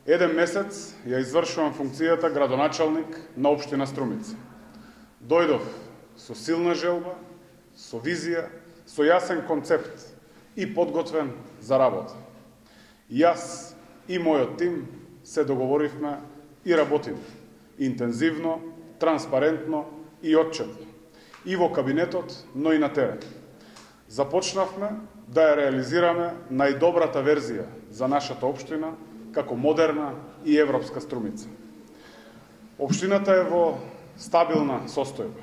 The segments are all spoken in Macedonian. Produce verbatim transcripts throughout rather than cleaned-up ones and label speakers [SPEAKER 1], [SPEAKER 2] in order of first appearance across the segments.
[SPEAKER 1] Еден месец ја извршувам функцијата градоначалник на општина Струмица. Дојдов со силна желба, со визија, со јасен концепт и подготвен за работа. Јас и мојот тим се договоривме и работиме интензивно, транспарентно и отчетно, и во кабинетот, но и на терен. Започнавме да ја реализираме најдобрата верзија за нашата општина како модерна и европска Струмица. Општината е во стабилна состојба.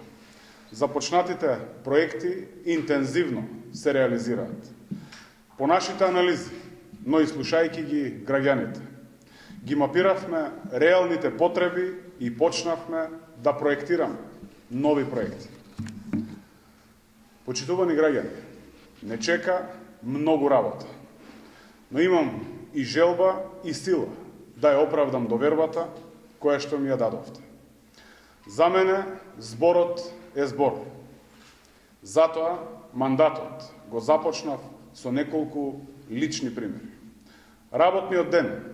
[SPEAKER 1] Започнатите проекти интензивно се реализираат. По нашите анализи, но и слушајќи ги граѓаните, ги мапиравме реалните потреби и почнавме да проектираме нови проекти. Почитувани граѓани, не чека многу работа, но имам и желба и сила да ја оправдам довербата која што ми ја дадовте. За мене зборот е збор. Затоа мандатот го започнав со неколку лични примери. Работниот ден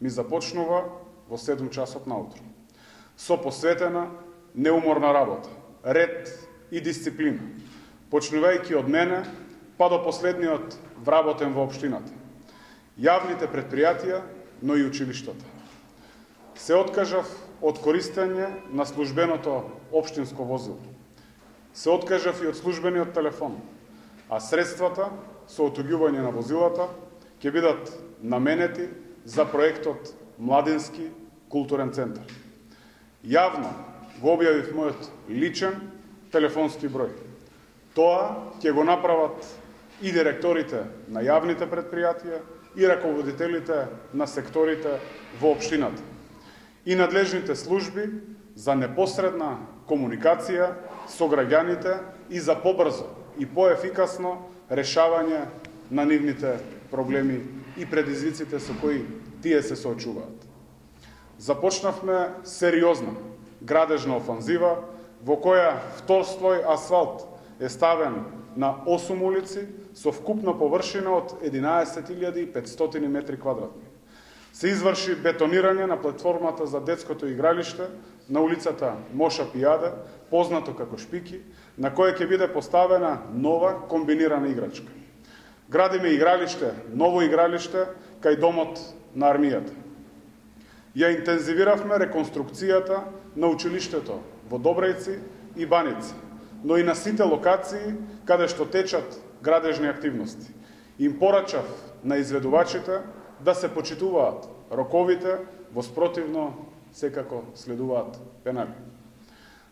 [SPEAKER 1] ми започнува во седум часот наутро, со посветена неуморна работа, ред и дисциплина, почнувајќи од мене па до последниот вработен во општината, јавните предпријатија, но и училиштата. Се откажав од користење на службеното општинско возило. Се откажав и од службениот телефон, а средствата со отуѓување на возилата ќе бидат наменети за проектот Младински културен центар. Јавно го објавив мојот личен телефонски број. Тоа ќе го направат и директорите на јавните предпријатија и раководителите на секторите во општината и надлежните служби за непосредна комуникација со граѓаните и за побрзо и поефикасно решавање на нивните проблеми и предизвиците со кои тие се соочуваат. Започнавме сериозна градежна офанзива во која втор слој асфалт е ставен на осум улици со вкупна површина од единаесет илјади и петстотини метри квадратни. Се изврши бетонирање на платформата за детското игралиште на улицата Моша Пијаде, познато како Шпики, на која ќе биде поставена нова комбинирана играчка. Градиме игралиште, ново игралиште кај домот на армијата. Ја интензивиравме реконструкцијата на училиштето во Добрејци и Баница, но и на сите локации каде што течат градежни активности. Им порачав на изведувачите да се почитуваат роковите, во спротивно секако следуваат пенали.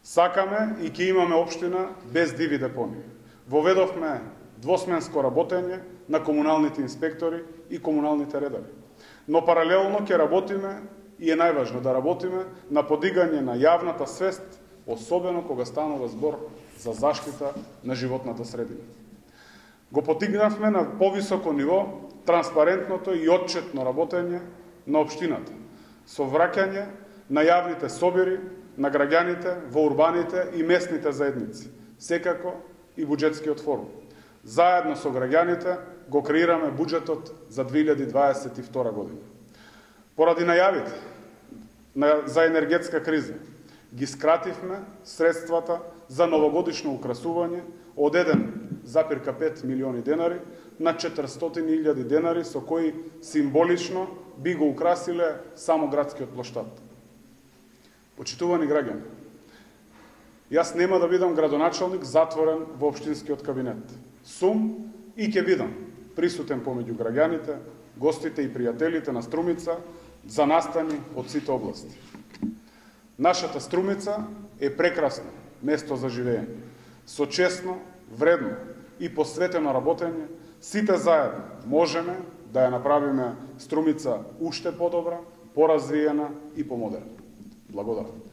[SPEAKER 1] Сакаме и ќе имаме општина без диви депони. Воведовме двосменско работење на комуналните инспектори и комуналните редари. Но паралелно ќе работиме, и е најважно да работиме, на подигање на јавната свест, особено кога станува збор за заштита на животната средина. Го потигнавме на повисоко ниво транспарентното и отчетно работење на општината, со враќање на јавните собири на граѓаните во урбаните и местните заедници, секако и буџетскиот форум. Заедно со граѓаните го креираме буџетот за две илјади дваесет и втора година. Поради најавите за енергетска криза, ги скративме средствата за новогодишно украсување од еден запир пет милиони денари на четиристотини илјади денари, со кои символично би го украсиле само градскиот плоштад. Почитувани граѓани, јас нема да бидам градоначалник затворен во општинскиот кабинет. Сум и ќе бидам присутен помеѓу граѓаните, гостите и пријателите на Струмица за настани од сите области. Нашата Струмица е прекрасно место за живење, со честно, вредно и посветено работење. Сите заедно можеме да ја направиме Струмица уште подобра, поразвиена и помодерна. Благодарам.